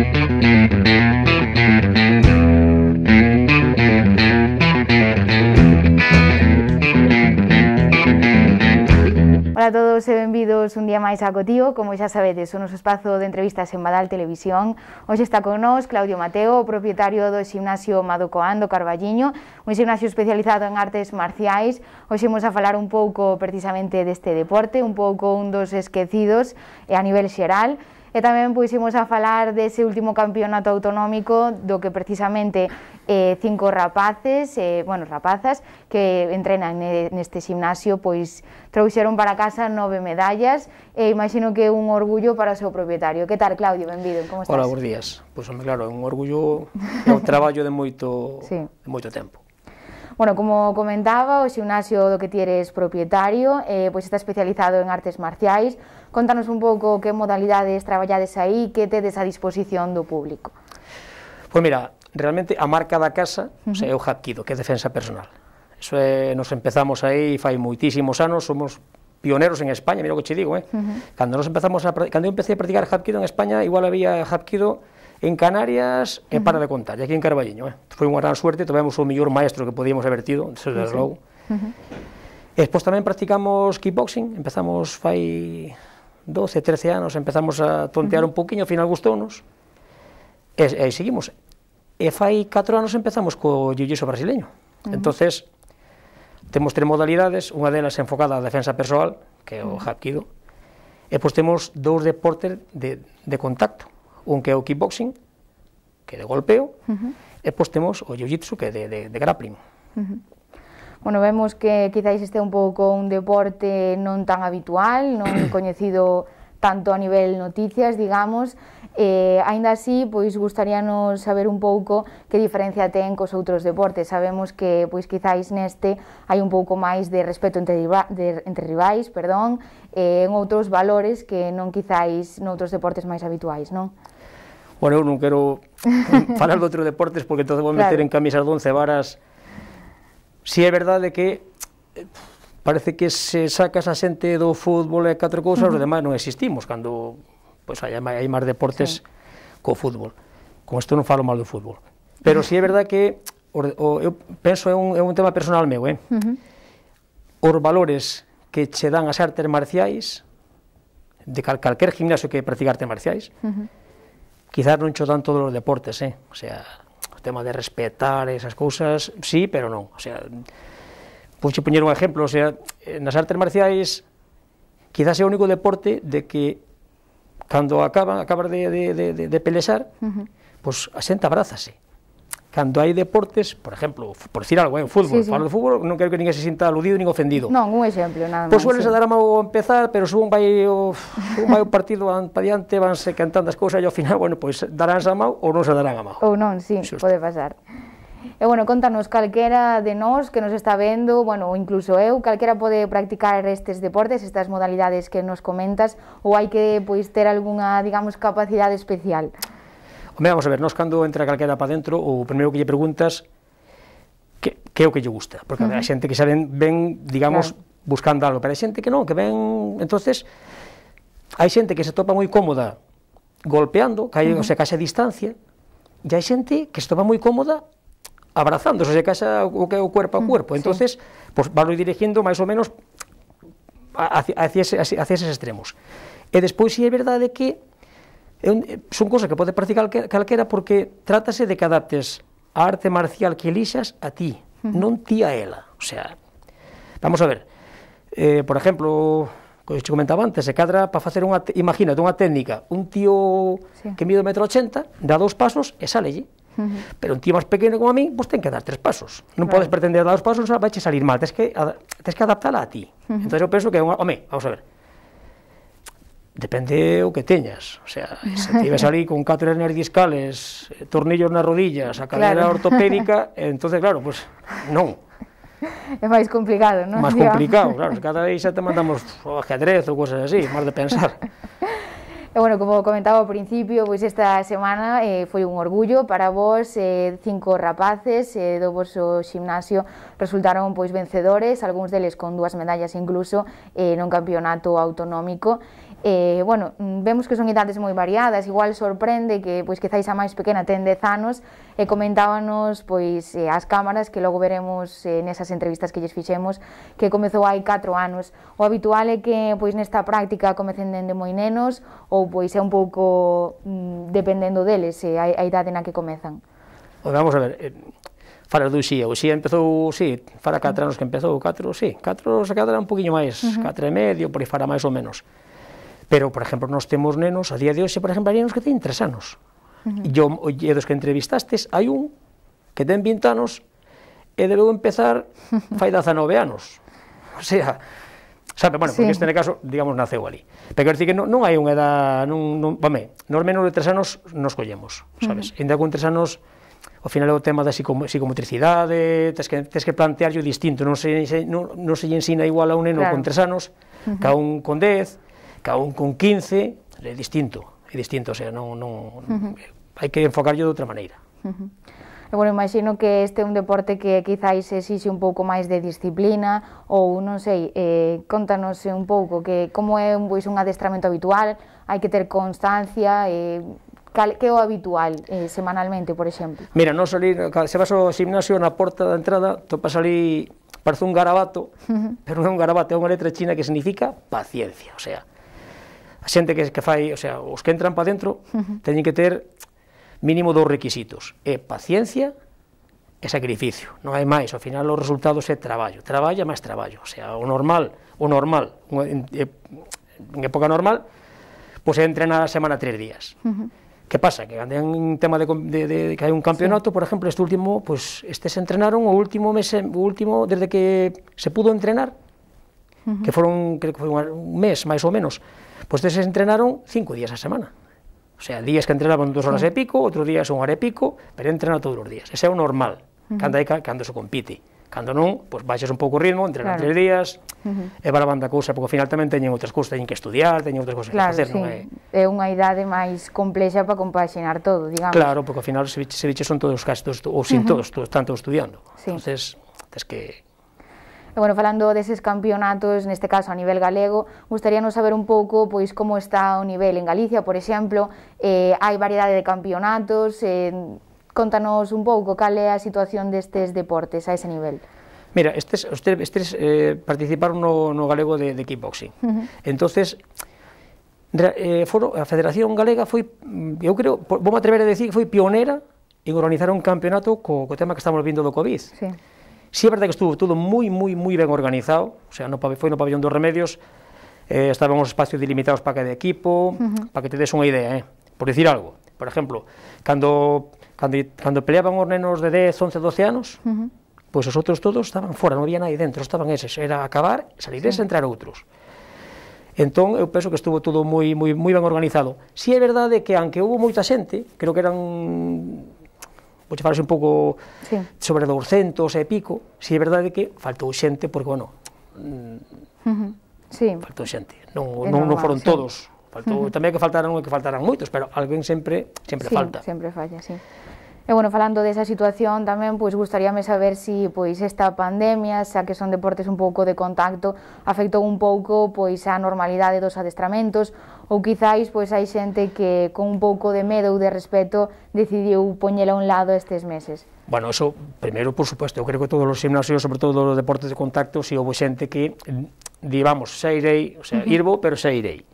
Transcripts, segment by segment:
Ola a todos e benvidos un día máis a Cotío. Como xa sabedes, o noso espazo de entrevistas en Badal Televisión. Hoxe está con nós Claudio Mateo, o propietario do ximnasio Madocoán do Carballiño, un ximnasio especializado en artes marciais. Hoxe imos a falar un pouco precisamente deste deporte, un pouco un dos esquecidos a nivel xeral. E tamén imos a falar dese último campeonato autonómico do que precisamente 5 rapazes, rapazas que entrenan neste ximnasio, pois trouxeron para casa 9 medallas e imagino que é un orgullo para o seu propietario. Que tal, Claudio? Benvido, como estás? Hola, bons días. Pois, claro, é un orgullo, é un traballo de moito tempo. Bueno, como comentaba, o ximnasio do que ti eres propietario pois está especializado en artes marciais. Contanos un pouco que modalidades traballades aí, que tedes a disposición do público. Pois mira, realmente a marca da casa é o Hapkido, que é defensa personal. Eso é, nos empezamos aí fai moitísimos anos, somos pioneros en España, mira o que che digo, cando eu empecé a practicar Hapkido en España, igual había Hapkido en Canarias e para de contar, e aquí en Carballiño. Foi unha gran suerte, tivemos o mellor maestro que podíamos haber tido, desde logo. E despois tamén practicamos kickboxing, empezamos fai 12, 13 anos, empezamos a tontear un poquinho, ao final gustounos, e seguimos. E fai 4 anos empezamos co jiu-jitsu brasileño. Entonces, temos 3 modalidades, unha delas enfocada á defensa persoal, que é o Hapkido, e pois temos 2 deportes de contacto, un que é o kickboxing, que é de golpeo, e pois temos o jiu-jitsu, que é de grappling. Bueno, vemos que quizáis este un pouco un deporte non tan habitual, non coñecido tanto a nivel noticias, digamos, aínda así, pois gustaríanos saber un pouco que diferencia ten cos outros deportes. Sabemos que, pois quizáis neste hai un pouco máis de respeto entre rivais, en outros valores que non quizáis noutros deportes máis habituais, non? Bueno, eu non quero falar de outros deportes porque entón vou meter en camisas de 11 varas. Si é verdade que parece que se sacas a xente do fútbol e 4 cousas, os demais non existimos, cando hai máis deportes co fútbol. Con isto non falo mal do fútbol. Pero si é verdade que, eu penso, é un tema personal meu, os valores que che dan as artes marciais, de calquer gimnasio que practica artes marciais, quizás non cho dan todos os deportes, o sea, o tema de respetar esas cousas, sí, pero non, o sea, pois poñer un exemplo, o sea, nas artes marciais, quizás é o único deporte de que, cando acabas de pelexar, pois a xente abrázase. Cando hai deportes, por exemplo, por decir algo, fútbol, falo de fútbol, non quero que ninguén se sinta aludido nin ofendido. Non, un exemplo, nada máis. Pois sueles a dar a mão ao empezar, pero se un vai o partido para diante, vanse cantando as cousas e ao final, bueno, pois daránse a mão ou non se darán a mão. Ou non, sí, pode pasar. E, bueno, contanos, calquera de nós que nos está vendo, bueno, ou incluso eu, calquera pode practicar estes deportes, estas modalidades que nos comentas, ou hai que, pois, ter algunha, digamos, capacidade especial? Home, vamos a ver, nós cando entra calquera para dentro, o primeiro que lle preguntas que é o que lle gusta, porque a xente que xa ven, digamos, buscando algo, pero hai xente que non, que ven, entonces, hai xente que se topa moi cómoda golpeando, o sea, case a distancia, e hai xente que se topa moi cómoda abrazando, o sea, case o que é o cuerpo a cuerpo, entonces, pues, valo dirigindo máis ou menos hacia eses extremos. E despois, si é verdade que son cosas que pode practicar calquera porque trátase de que adaptes a arte marcial que elixas a ti, non ti a ela. O sea, vamos a ver, por exemplo, como te comentaba antes, se cadra para facer imagínate unha técnica, un tío que mide 1,80 m, dá 2 pasos e sálelle. Pero un tío máis pequeno como a mí, pois ten que dar 3 pasos. Non podes pretender dar 2 pasos, vai che salir mal, tens que adaptala a ti. Entón eu penso que, home, vamos a ver, depende o que teñas, o sea, se te ibas ali con 4 hernias discales, tornillos nas rodillas, a cadera ortopédica, entonces, claro, pues non. É máis complicado, non? Máis complicado, claro, cada vez xa te mandamos ajedrez ou cosas así, máis de pensar. E, bueno, como comentaba ao principio, pois esta semana foi un orgullo para vos, 5 rapaces do vosso ximnasio resultaron pois vencedores, algúns deles con 2 medallas incluso nun campeonato autonómico. bueno, vemos que son idades moi variadas, igual sorprende que, pois, quizáis a máis pequena ten 10 anos, e comentábanos, pois, as cámaras, que logo veremos nesas entrevistas que lles fixemos, que comezou hai 4 anos. O habitual é que, pois, nesta práctica comecen dende moi nenos, ou, pois, é un pouco dependendo deles, a idade na que comezan. Vamos a ver, fala do Uxía, o Uxía empezou, sí, fara 4 anos que empezou, 4, sí, 4 se cadra un poquinho máis, 4 e medio, por aí fara máis ou menos. Pero, por exemplo, nós temos nenos, a día de hoxe, por exemplo, hai nenos que teñen 3 anos. E dos que entrevistastes, hai un que ten 20 anos e debeu empezar fai 19 anos. O sea, sabe, bueno, porque este caso, digamos, naceu ali. Pero quero dicir que non hai unha edad, nos menos de 3 anos nos collemos, sabes? Ainda con 3 anos, ao final é o tema da psicomotricidade, tes que plantearlo distinto, non se lle ensina igual a un neno con 3 anos, que a un con 10, cada un con 15, é distinto, o sea, hai que enfocarlo de outra maneira. E, bueno, imagino que este é un deporte que quizáis exixe un pouco máis de disciplina, ou, non sei, contanos un pouco que como é un adestramento habitual, hai que ter constancia, que é o habitual semanalmente, por exemplo? Mira, nos ali, se vas ao gimnasio, na porta da entrada, topas ali, parece un garabato, pero non é un garabato, é unha letra china que significa paciencia, o sea, a xente que fai, o sea, os que entran para dentro teñen que ter mínimo 2 requisitos, é paciencia e sacrificio, non hai máis, ao final os resultados é traballo, traballa máis traballo, o sea, o normal, en época normal, pois é entrenar a semana 3 días. Que pasa? Que cando hai un tema de que hai un campeonato, por exemplo, este último, pois estes entrenaron o último mes, desde que se pudo entrenar, que foron, creo que foi un mes, máis ou menos, pois estes entrenaron 5 días a semana. O sea, días que entrenaban 2 horas e pico, outros días 1 hora e pico, pero entrenan todos os días. Ese é o normal, cando se compite. Cando non, pois baixas un pouco o ritmo, entrenan 3 días, e va lavando a cousa, porque ao final tamén teñen outras cousas, teñen que estudiar, teñen outras cousas que facer, non é? É unha idade máis complexa para compaxinar todo, digamos. Claro, porque ao final se biches son todos os casos, ou sin todos, están todos estudiando. Entonces, tes que... E, bueno, falando deses campeonatos, neste caso a nivel galego, gustaríanos saber un pouco, pois, como está o nivel en Galicia, por exemplo, hai variedade de campeonatos, contanos un pouco cal é a situación destes deportes a ese nivel. Mira, estes participaron no galego de kickboxing. Entonces, a Federación Galega foi, eu creo, vou me atrever a decir que foi pionera en organizar un campeonato co tema que estamos vindo do COVID. Sí, é verdade que estuvo todo moi ben organizado, o sea, foi no pabellón dos Remedios, estaban os espacios delimitados para cada equipo, para que te des unha idea, por decir algo. Por exemplo, cando peleaban os nenos de 10, 11, 12 anos, pois os outros todos estaban fora, non había nadie dentro, estaban eses, era acabar, salir eses e entrar outros. Entón, eu penso que estuvo todo moi ben organizado. Si é verdade que, aunque houve moita xente, creo que eran, vou che falar un pouco sobre 200 e pico, si é verdade que faltou xente, porque, bueno, faltou xente, non foron todos, faltou tamén que faltaran moitos, pero alguén sempre falta. Sempre falla, sí. E, bueno, falando desa situación tamén, pois, gustaríame saber se, pois, esta pandemia, xa que son deportes un pouco de contacto, afectou un pouco, pois, a normalidade dos adestramentos, ou quizáis, pois, hai xente que con un pouco de medo ou de respeto decidiu poñela a un lado estes meses. Bueno, eso, primeiro, por suposto, eu creo que todos os gimnasios, sobre todo os deportes de contacto, si houve xente que, digamos, xa irei, o sea, irvo, pero xa irei.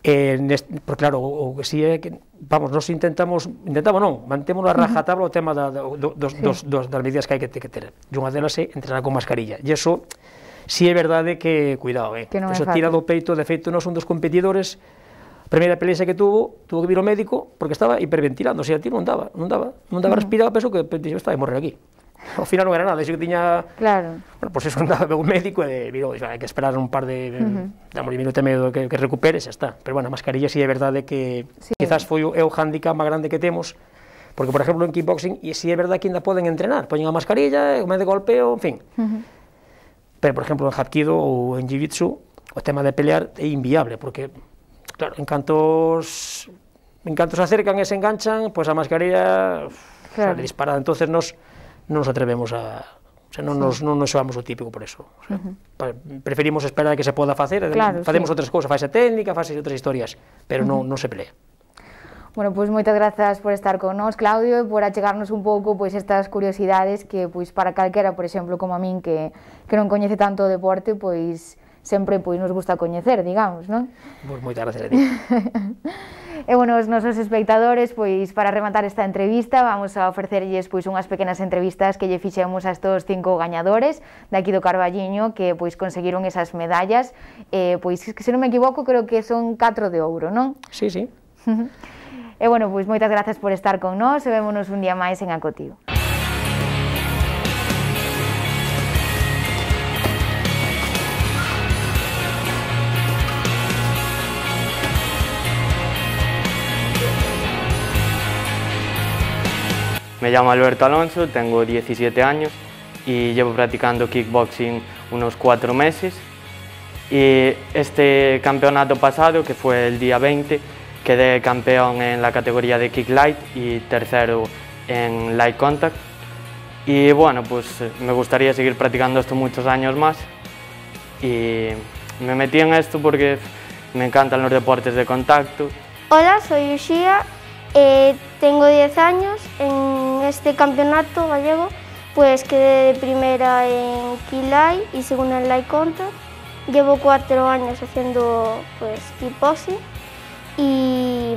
Porque claro, o que si é que, vamos, nos intentamos non, mantemos a rajatabla o tema das medidas que hai que ter, e unha delas é entrenar con mascarilla, e iso, si é verdade que, cuidado, eso tira do peito, de feito, nós un dos competidores, a primeira pelea que tuvo que vir ao médico, porque estaba hiperventilando, o sea, a ti non daba respirar, penso que estaba a morrer aquí. Ao final non era nada, iso que tiña... Claro. Bueno, pois eso andaba un médico e virou, hai que esperar un par de... damos un minuto e medio que recupere, xa está. Pero, bueno, a mascarilla si é verdade que quizás foi o handicap máis grande que temos, porque, por exemplo, en kickboxing, e si é verdade que ainda poden entrenar, poñen a mascarilla, o medio de golpeo, en fin. Pero, por exemplo, en Hapkido ou en Jiu-Jitsu, o tema de pelear é inviable, porque, claro, en canto se acercan e se enganchan, pois a mascarilla sale disparada, entonces nos atrevemos a O sea, non nos xoamos o típico por eso. O sea, preferimos esperar a que se poda facer, facemos outras cousas, faise técnica, faise outras historias, pero non se pelea. Bueno, pois moitas grazas por estar con nós, Claudio, e por achegarnos un pouco pois estas curiosidades que pois para calquera, por exemplo, como a min que non coñece tanto o deporte, pois sempre pois nos gusta coñecer, digamos, non? Pois moitas gracias a ti. E bueno, os nosos espectadores, pois para rematar esta entrevista, vamos a ofrecerlles pois unhas pequenas entrevistas que lle fixemos a estos 5 gañadores de aquí do Carballiño que pois conseguiron esas medallas, pois que se non me equivoco, creo que son 4 de ouro, non? Sí, sí. E bueno, pois moitas grazas por estar con nós e vémonos un día máis en Acotío. Me llamo Alberto Alonso, tengo 17 años y llevo practicando kickboxing unos 4 meses. Y este campeonato pasado, que fue el día 20, quedé campeón en la categoría de Kick Light y tercero en Light Contact. Y bueno, pues me gustaría seguir practicando esto muchos años más. Y me metí en esto porque me encantan los deportes de contacto. Hola, soy Uxía, tengo 10 años. En este campeonato gallego pues quedé de primera en Kick Light y segunda en Light Contact. Llevo 4 años haciendo pues kickboxing y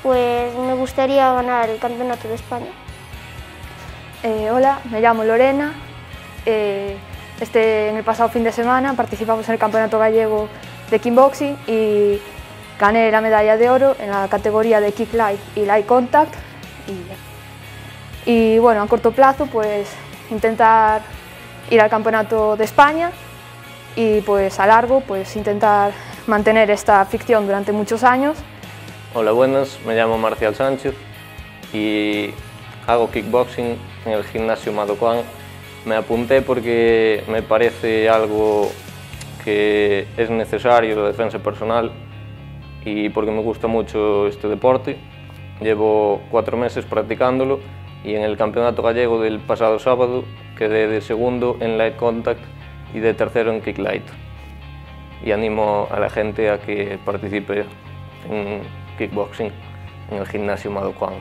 pues me gustaría ganar el campeonato de España. Hola, me llamo Lorena. En el pasado fin de semana participamos en el campeonato gallego de kickboxing y gané la medalla de oro en la categoría de Kick Light y Light Contact. Y bueno, a corto plazo pues intentar ir al campeonato de España y pues a largo pues intentar mantener esta afición durante muchos años. Hola, buenas, me llamo Marcial Sánchez y hago kickboxing en el gimnasio Madocoan. Me apunté porque me parece algo que es necesario, la defensa personal, y porque me gusta mucho este deporte. Llevo 4 meses practicándolo y en el campeonato gallego del pasado sábado quedé de segundo en Light Contact y de tercero en Kick Light. Y animo a la gente a que participe en kickboxing en el gimnasio Madocoan.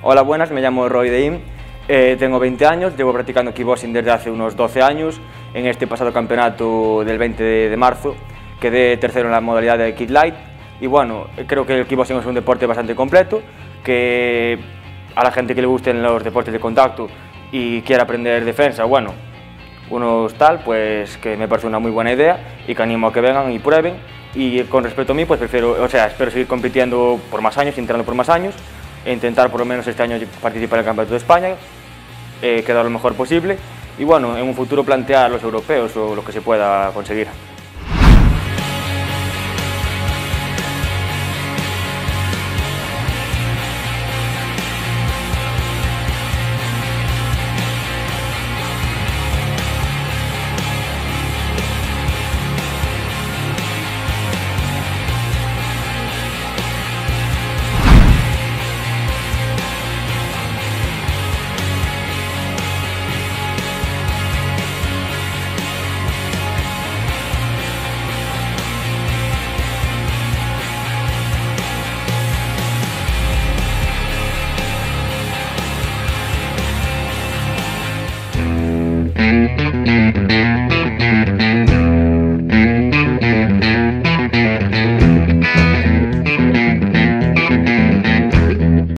Hola, buenas, me llamo Roy Deim, tengo 20 años, llevo practicando kickboxing desde hace unos 12 años. En este pasado campeonato del 20 de marzo quedé tercero en la modalidad de Kick Light y bueno, creo que el kickboxing es un deporte bastante completo, que a la gente que le gusten los deportes de contacto y quiera aprender defensa, bueno, unos tal, pues que me parece una muy buena idea y que animo a que vengan y prueben. Y con respecto a mí, pues espero seguir compitiendo por más años, entrando por más años e intentar por lo menos este año participar en el Campeonato de España, quedar lo mejor posible y bueno, en un futuro plantear los europeos o lo que se pueda conseguir.